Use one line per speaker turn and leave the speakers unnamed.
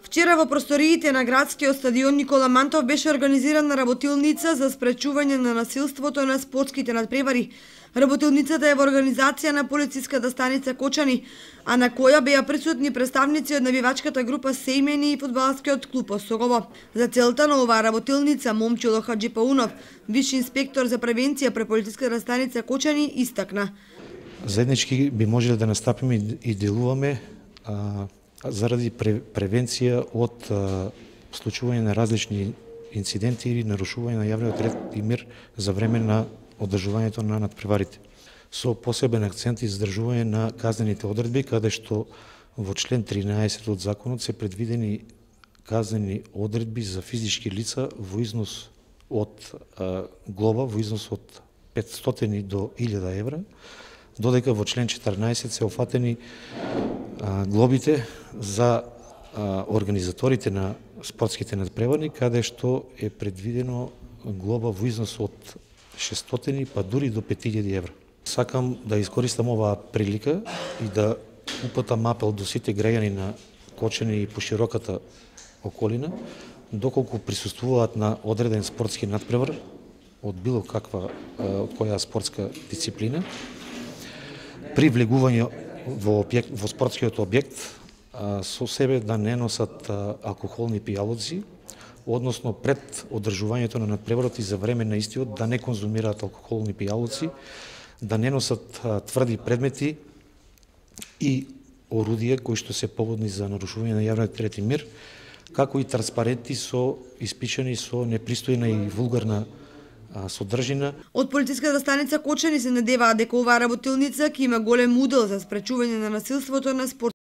Вчера во просториите на градскиот стадион Никола Мантов беше организирана работилница за спречување на насилството на спортските надпревари. Работилницата е во организација на полициската станица Кочани, а на која беа присутни представници од навивачката група Сејмени и фудбалскиот клуб Осогово. За целта на оваа работилница Момчило Хаджипаунов, виш инспектор за превенција при полициската станица Кочани, истакна:
заеднички би можеле да настапиме и делуваме заради превенција од случување на различни инциденти или нарушување на јавниот ред и мир за време на одржувањето на надпреварите. Со посебен акцент и задржување на казнените одредби, каде што во член 13 од законот се предвидени казнени одредби за физички лица во износ од глоба во износ од 500 до 1000 евра, додека во член 14 се офатени глобите за организаторите на спортските надпревари, каде што е предвидено глоба во износ од 600 па дури до 5000 евра. Сакам да искористам оваа прилика и да упатам апел до сите граѓани на Кочани и пошироката околина, доколку присуствуваат на одреден спортски надпревар од било каква од која спортска дисциплина, при влегување во спортскиот објект со себе да не носат алкохолни пијалоци, односно пред одржувањето на надпреварот и за време на истиот да не конзумираат алкохолни пијалоци, да не носат тврди предмети и орудија кои што се поводни за нарушување на јавниот ред и мир, како и транспаренти испишани со непристојна и вулгарна содржина.
Од полициската станица Кочани се надеваат дека оваа работилница ќе има голем удел за спречување на насилството на спорт